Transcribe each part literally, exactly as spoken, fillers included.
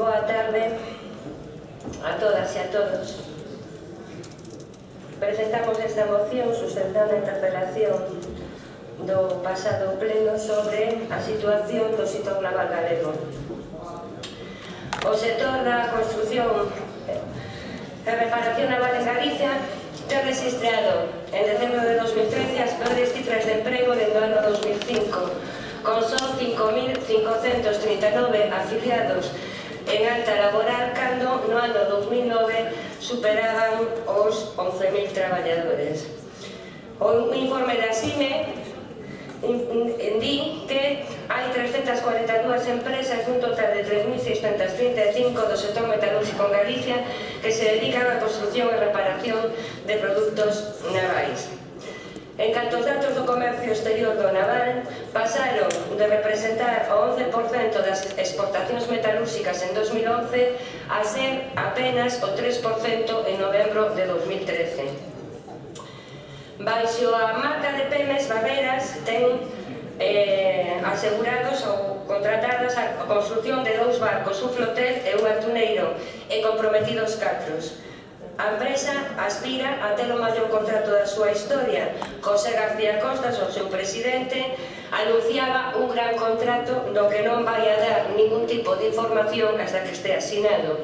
Boa tarde a todas e a todos. Presentamos esta moción sustentando a interpelación do pasado pleno sobre a situación do sector naval galego. O sector da construción e reparación naval en Galicia ten registrado en decembro de dos mil trece as peores cifras de emprego dende o ano dos mil cinco, con só cinco mil cincocentos trinta e nove afiliados en alta laboral, cando no ano dos mil nove superaban os once mil traballadores. O informe da CIME di que hai trescentas cuarenta e dúas empresas dun total de tres mil seiscentas trinta e cinco do sector metalúrxico en Galicia que se dedican á construción e reparación de produtos navais. En canto aos datos do comercio exterior do naval, pasaron de representar o once por cento das exportacións metalúrxicas en dos mil once a ser apenas o tres por cento en novembro de dos mil trece. Baixo a marca de Pemex, Barreras ten eh, asegurados ou contratadas a construción de dous barcos, un flotel e un atuneiro, e comprometidos catros. A empresa aspira a ter o maior contrato da súa historia. José García Costas, o seu presidente, anunciaba un gran contrato do que non vai a dar ningún tipo de información hasta que este asinado.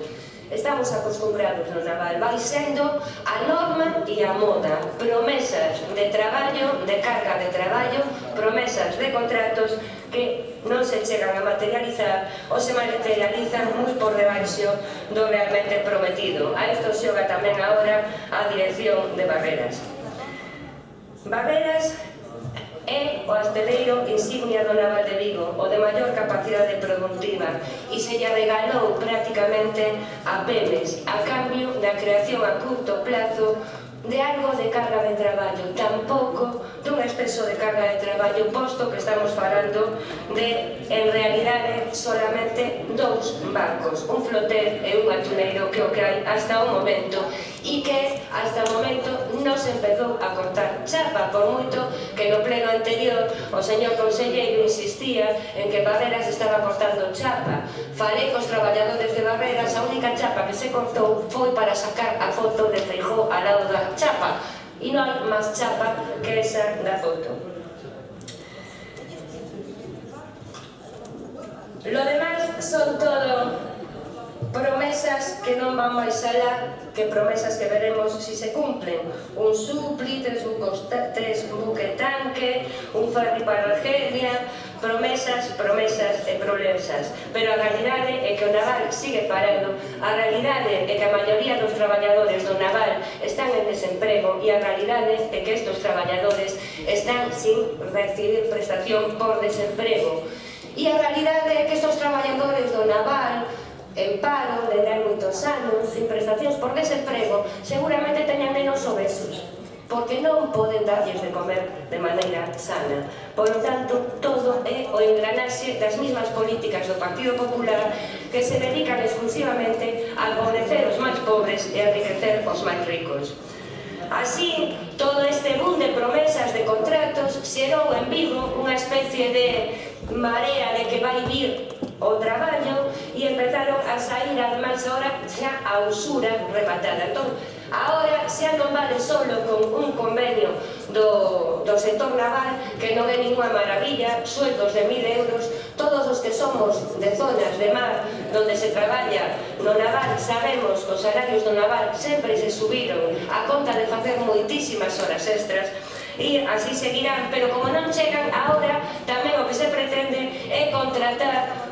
Estamos acostumbrados no naval, vai sendo a norma e a moda. Promesas de traballo, de carga de traballo, promesas de contratos que non se chegan a materializar ou se materializan moi por debaixo do realmente prometido. A isto xoga tamén agora a dirección de Barreras. Barreras é o asteleiro insignia do naval de Vigo, o de maior capacidade productiva, e se lle regalou prácticamente a Pemex a cambio da creación a curto plazo de algo de carga de traballo, tampouco dun exceso de carga de traballo, posto que estamos falando de, en realidade, solamente dous barcos, un flotel e un atuneiro, que o que hai hasta o momento, e que hasta o momento non se empezou a cortar chapa, por moito que no pleno anterior o señor conselleiro insistía en que Barreras estaba cortando chapa. Falei cos traballadores de Barreras, a única chapa que se cortou foi para sacar a foto de Feijóo ao lado da chapa, e non hai máis chapa que esa da foto. Lo demás son todo promesas que non van máis alá que promesas que veremos si se cumplen. Un supli, tres buques tanque, un ferry para Argelia, promesas, promesas e promesas. Pero a realidade é que o naval sigue parado, a realidade é que a maioría dos traballadores do naval están en desemprego, e a realidade é que estes traballadores están sin recibir prestación por desemprego. E a realidade é que estes traballadores do naval en paro, de hai moitos anos, sin prestacións por desemprego, seguramente teñan menos obesos, porque non poden darlles de comer de maneira sana. Por lo tanto, todo é o engranaxe das mismas políticas do Partido Popular que se dedican exclusivamente a empobrecer os máis pobres e a enriquecer os máis ricos. Así, todo este boom de promesas de contratos xerou en Vigo unha especie de marea de que vai vir o traballo, e empezaron a sair ademais ahora xa a usura rematada. Entón, agora xa non vale solo con un convenio do, do sector naval, que non é ninguna maravilla, sueldos de mil euros. Todos os que somos de zonas de mar donde se traballa no naval sabemos que os salarios do naval sempre se subiron a conta de facer moitísimas horas extras, e así seguirán, pero como non chegan, agora tamén o que se pretende é contratar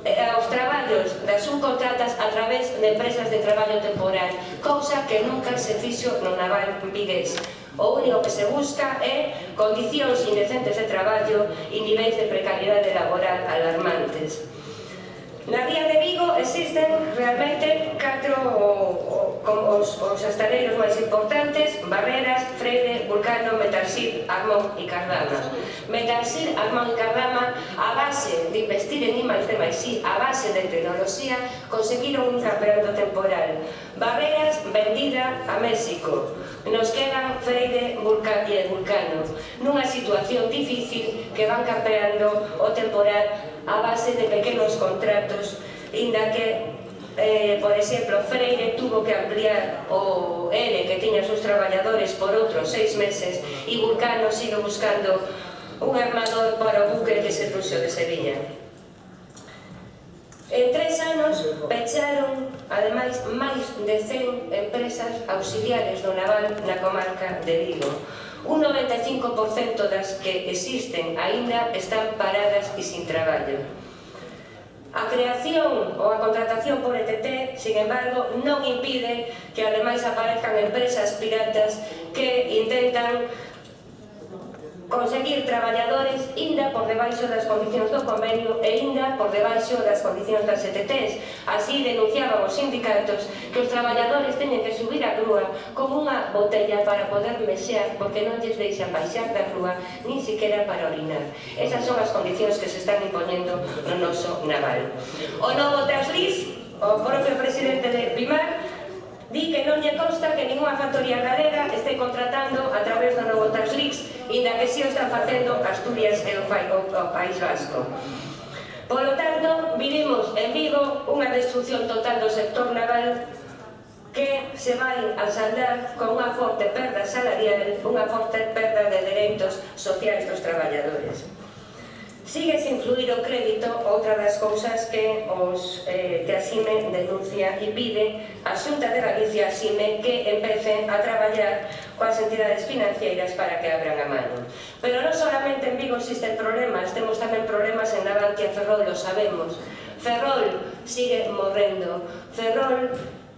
aos traballos das subcontratas a través de empresas de traballo temporal, cousa que nunca se fixo no naval vigués. O único que se busca é condicións indecentes de traballo e niveis de precariedade laboral alarmantes. Na ría de Vigo existen realmente catro os, os astaleiros máis importantes: Barreras, Freire, Vulcano, Metalsir, Armón e Cardama. Metalsir, Armón e Cardama, a base de investir en I máis D máis I, a base de tecnoloxía, conseguiron un campeonato temporal. Barreras vendida a México. Nos quedan Freire, Vulcano e Vulcano, nunha situación difícil que van campeando o temporal a base de pequenos contratos, inda que Eh, por exemplo, Freire tuvo que ampliar o E L E que tiña sus traballadores por outros seis meses e Vulcano sigue buscando un armador para o buque que se puxo de Sevilla. En tres anos pecharon, ademais, máis de cen empresas auxiliares do naval na comarca de Vigo. Un noventa e cinco por cento das que existen aínda están paradas e sin traballo. A creación ou a contratación por E T T, sin embargo, non impide que ademais aparezcan empresas piratas que intentan conseguir traballadores inda por debaixo das condicións do convenio e inda por debaixo das condicións das E T Ts. Así denunciaban os sindicatos que os traballadores teñen que subir a grúa con unha botella para poder mexear porque non lles deixan baixar da grúa nin siquiera para orinar. Esas son as condicións que se están impoñendo no noso naval. O novo Traslis, o propio presidente de Pimar, di que non lle consta que ninguna factoría galega este contratando a través do novo Traslis, inda que si o están facendo Asturias e o País Vasco. Por lo tanto, vivimos en Vigo unha destrucción total do sector naval que se vai a saldar con unha forte perda salarial, unha forte perda de dereitos sociais dos traballadores. Sigue sin fluir o crédito, outra das cousas que os eh, que a CIME denuncia e pide a Xunta de Galicia, a CIME, que empecen a traballar coas entidades financeiras para que abran a mano. Pero non solamente en Vigo existen problemas, temos tamén problemas en Navantia, Ferrol, lo sabemos. Ferrol sigue morrendo, Ferrol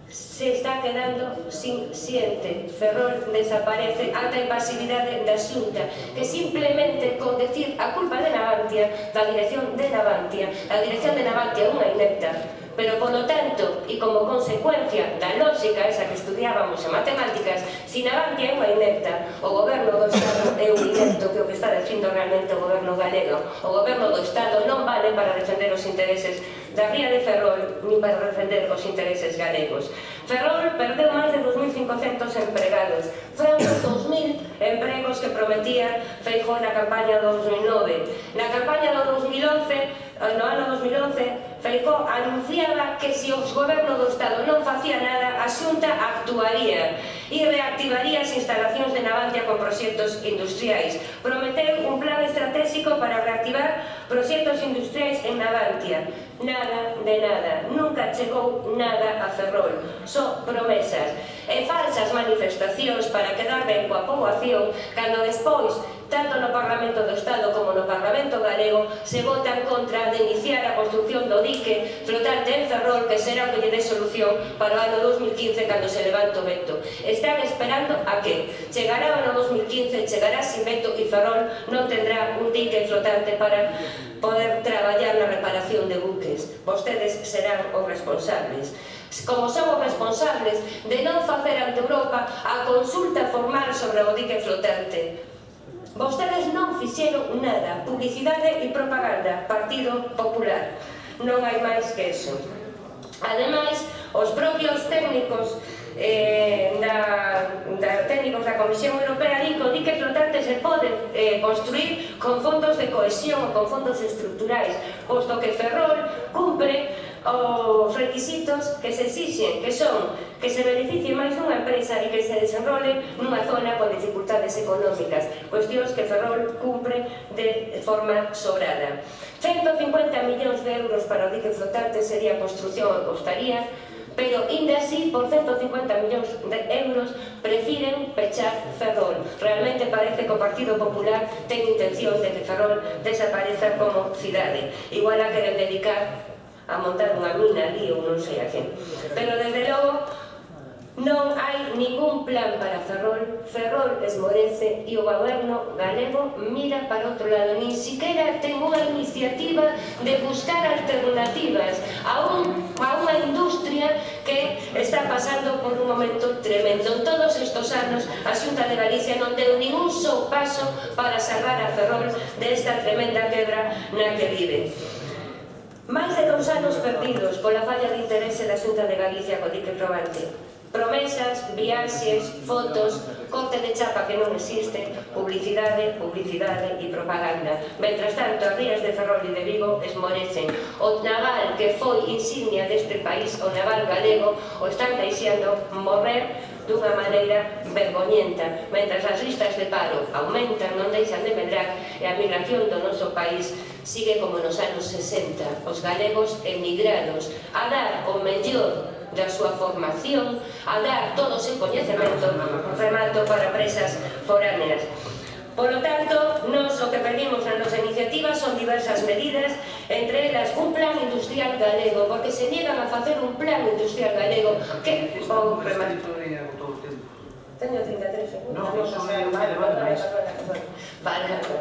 se está quedando sin xente, Ferrol desaparece ata a impasividade da Xunta, que simplemente con decir a culpa de Navantia, da dirección de Navantia, a dirección de Navantia é unha inepta, pero polo tanto, e como consecuencia da lógica esa que estudiábamos en matemáticas, si Navantia é unha inepta, o goberno do Estado é un inepto, que o que está dicindo realmente o goberno galego. O goberno do Estado non vale para defender os intereses da ría de Ferrol, nin para defender os intereses galegos. Ferrol perdeu máis de dos mil cincocentos empregados, foron os dos mil empregos que prometía Feijóo na campaña do dos mil nove. Na campaña do dos mil once, no ano dos mil once, Feijóo anunciaba que se o goberno do Estado non facía nada, a Xunta actuaría e reactivaría as instalacións de Navantia con proxectos industriais. Prometeu un plan estratégico para reactivar proxectos industriais en Navantia. Nada de nada, nunca chegou nada a Ferrol, só promesas e falsas manifestacións para quedar ben coa poboación, cando despois, tanto no Parlamento do Estado como no Parlamento galego, se votan contra de iniciar a construcción do dique flotante en Ferrol, que será o que lle dé solución para o ano dos mil quince, cando se levanta o veto. Están esperando a que chegará o ano dos mil quince, chegará sin veto e Ferrol non tendrá un dique flotante para poder traballar na reparación de buques. Vostedes serán os responsables. Como son os responsables de non facer ante Europa a consulta formal sobre o dique flotante. Vostedes non fixeron nada. Publicidade e propaganda. Partido Popular. Non hai máis que eso. Ademais, os propios técnicos Eh, da, da técnicos da Comisión Europea di que o dique flotante se pode eh, construir con fondos de cohesión ou con fondos estruturais, posto que Ferrol cumpre os requisitos que se exixen, que son que se beneficie máis dunha empresa e que se desenrole nunha zona con dificultades económicas, cuestións que Ferrol cumpre de forma sobrada. ciento cincuenta millóns de euros para o dique flotante sería a construción e costaría, pero, ainda así, por ciento cincuenta millóns de euros, prefiren pechar Ferrol. Realmente parece que o Partido Popular ten intención de que Ferrol desapareza como cidade. Igual a queren dedicar a montar unha mina ali ou non sei a quen. Pero, desde logo, non hai ningún plan para Ferrol. Ferrol esmorece e o goberno galego mira para outro lado. Nin siquiera ten unha iniciativa de buscar alternativas a, un, a unha industria que está pasando por un momento tremendo. En todos estes anos, a Xunta de Galicia non deu ningún só paso para salvar a Ferrol desta tremenda quebra na que vive. Máis de dous anos perdidos pola falla de interese da Xunta de Galicia co dique flotante. Promesas, viaxes, fotos, corte de chapa que non existe, publicidade, publicidade e propaganda. Mentras tanto, as rías de Ferrol e de Vigo esmorecen. O naval que foi insignia deste país, o naval galego, o están deixando morrer dunha maneira vergoñenta. Mentras as listas de paro aumentan, non deixan de medrar, e a migración do noso país sigue como nos anos sesenta. Os galegos emigrados a dar o mellor da súa formación, a dar todo o seu coñecemento, remato, para presas foráneas. Por lo tanto, nos o que pedimos na nosa iniciativa son diversas medidas, entre elas un plan industrial galego, porque se niegan a facer un plan industrial galego que... Vou rematar. Teño trinta e tres segundos. Non, iso é un debate máis. Vale, vale.